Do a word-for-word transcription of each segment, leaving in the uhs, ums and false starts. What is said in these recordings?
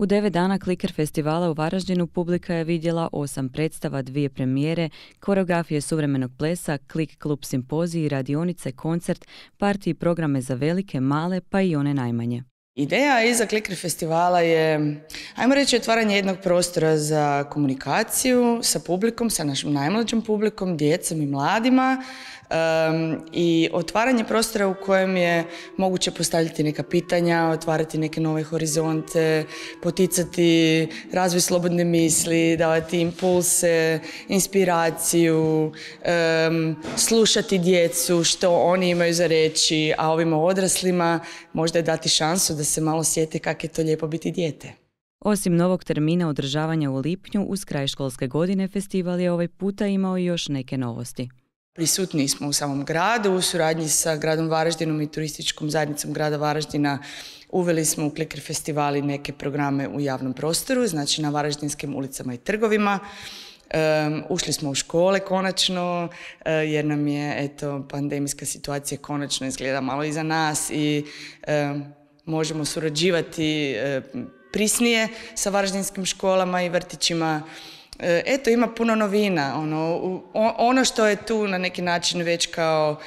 U devet dana Kliker festivala u Varaždinu publika je vidjela osam predstava, dvije premijere, koreografije suvremenog plesa, Klik klub simpoziji, radionice, koncert, partije i programe za velike, male pa i one najmanje. Ideja iza Kliker festivala je, ajmo reći, otvaranje jednog prostora za komunikaciju sa publikom, sa našim najmlađim publikom, djecom i mladima, um, i otvaranje prostora u kojem je moguće postavljati neka pitanja, otvarati neke nove horizonte, poticati razvoj slobodne misli, davati impulse, inspiraciju, um, slušati djecu, što oni imaju za reći, a ovima odraslima možda je dati šansu da se malo sjete kako je to lijepo biti dijete. Osim novog termina održavanja u lipnju, uz kraj školske godine, festival je ovaj puta imao i još neke novosti. Prisutni smo u samom gradu, u suradnji sa gradom Varaždinom i turističkom zajednicom grada Varaždina uveli smo u Kliker festivali neke programe u javnom prostoru, znači na varaždinskim ulicama i trgovima. Um, ušli smo u škole konačno, uh, jer nam je eto, pandemijska situacija konačno izgleda malo iza nas i um, možemo surađivati uh, prisnije sa varaždinskim školama i vrtićima. Eto, ima puno novina. Ono, ono što je tu na neki način već kao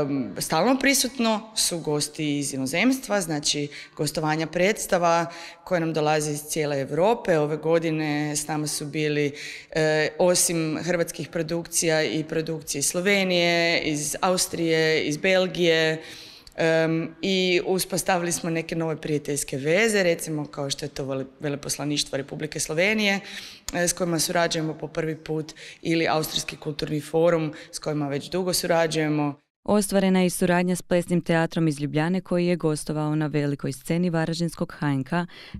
um, stalno prisutno su gosti iz inozemstva, znači gostovanja predstava koje nam dolaze iz cijele Europe. Ove godine s nama su bili eh, osim hrvatskih produkcija i produkcije iz Slovenije, iz Austrije, iz Belgije. Um, i uspostavili smo neke nove prijateljske veze, recimo kao što je to Veleposlaništvo Republike Slovenije eh, s kojima surađujemo po prvi put, ili Austrijski kulturni forum s kojima već dugo surađujemo. Ostvarena je i suradnja s plesnim teatrom iz Ljubljane koji je gostovao na velikoj sceni Varaždinskog H N K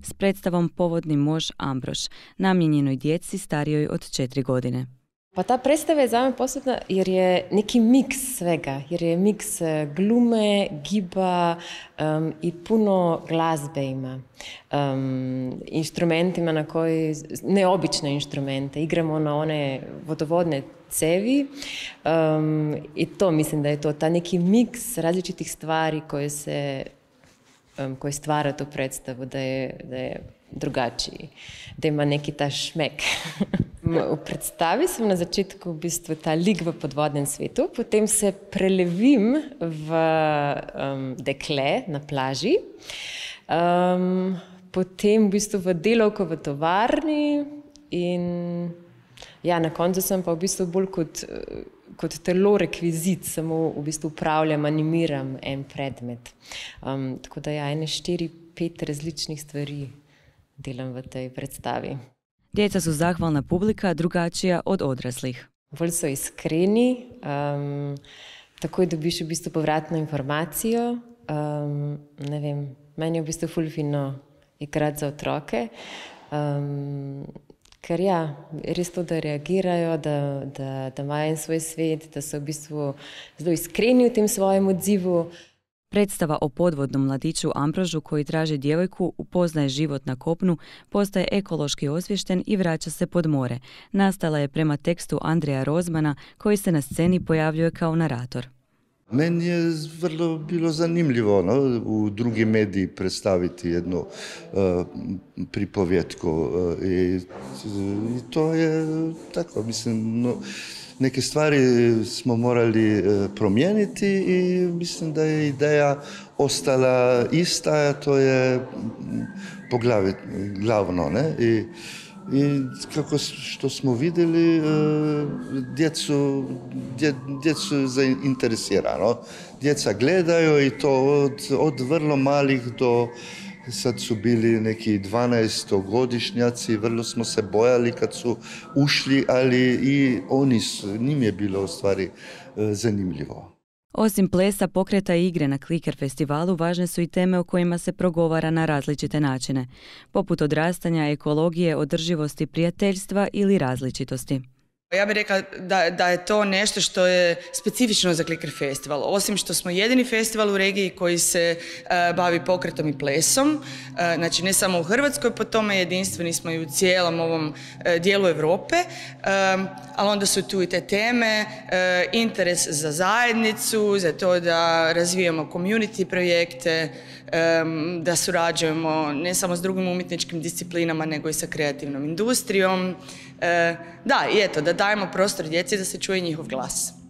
s predstavom Povodni mož Ambrož, namijenjenoj djeci starijoj od četiri godine. Pa ta predstava je za me posebna jer je neki miks svega, jer je miks glume, giba um, i puno glazbe ima. Um, instrumentima na koji, neobične instrumente, igramo na one vodovodne cevi um, i to mislim da je to, ta neki miks različitih stvari koje se, um, koje stvara tu predstavu, da je, da je drugačiji, da ima neki ta šmek. V predstavi sem na začetku v bistvu ta lik v podvodnem svetu, potem se prelevim v um, dekle na plaži, um, potem v bistvu v delavko v tovarni in ja, na koncu sem pa v bistvu bolj kot, kot telo rekvizit, samo v bistvu upravljam, animiram en predmet. Um, tako da ja, ene štiri, pet različnih stvari delam v tej predstavi. Djeca su zahvalna publika, drugačija od odraslih. Bolj so iskreni, um, takoj dobiš v bistvu povratno informacijo. Um, ne vem, meni je v bistvu ful fino igrati za otroke, um, ker ja, res to, da reagirajo, da, da, da imajo en svoj svet, da so v bistvu zelo iskreni v tem svojem odzivu. Predstava o podvodnom mladiću Ambrožu koji traži djevojku, upoznaje život na kopnu, postaje ekološki osviješten i vraća se pod more. Nastala je prema tekstu Andreja Rozmana koji se na sceni pojavljuje kao narator. Meni je vrlo bilo zanimljivo no, u drugi mediji predstaviti jednu uh, pripovjetku uh, i, i to je tako, mislim, no, neke stvari smo morali uh, promijeniti i mislim da je ideja ostala ista, a to je poglavit, glavno, ne? I, I kako što smo vidjeli, djecu, dje, djecu zainteresirano. Djeca gledaju i to od, od vrlo malih do, sad su bili neki dvanaestogodišnjaci, vrlo smo se bojali kad su ušli, ali i oni su, njim je bilo u stvari zanimljivo. Osim plesa, pokreta i igre na Kliker festivalu, važne su i teme o kojima se progovara na različite načine, poput odrastanja, ekologije, održivosti, prijateljstva ili različitosti. Ja bih rekla da, da je to nešto što je specifično za Kliker festival. Osim što smo jedini festival u regiji koji se uh, bavi pokretom i plesom, uh, znači ne samo u Hrvatskoj, po tome jedinstveni smo i u cijelom ovom uh, dijelu Europe, um, ali onda su tu i te teme, uh, interes za zajednicu, za to da razvijamo community projekte, da surađujemo ne samo s drugim umjetničkim disciplinama, nego i sa kreativnom industrijom. Da, i eto, da dajemo prostor djeci da se čuje njihov glas.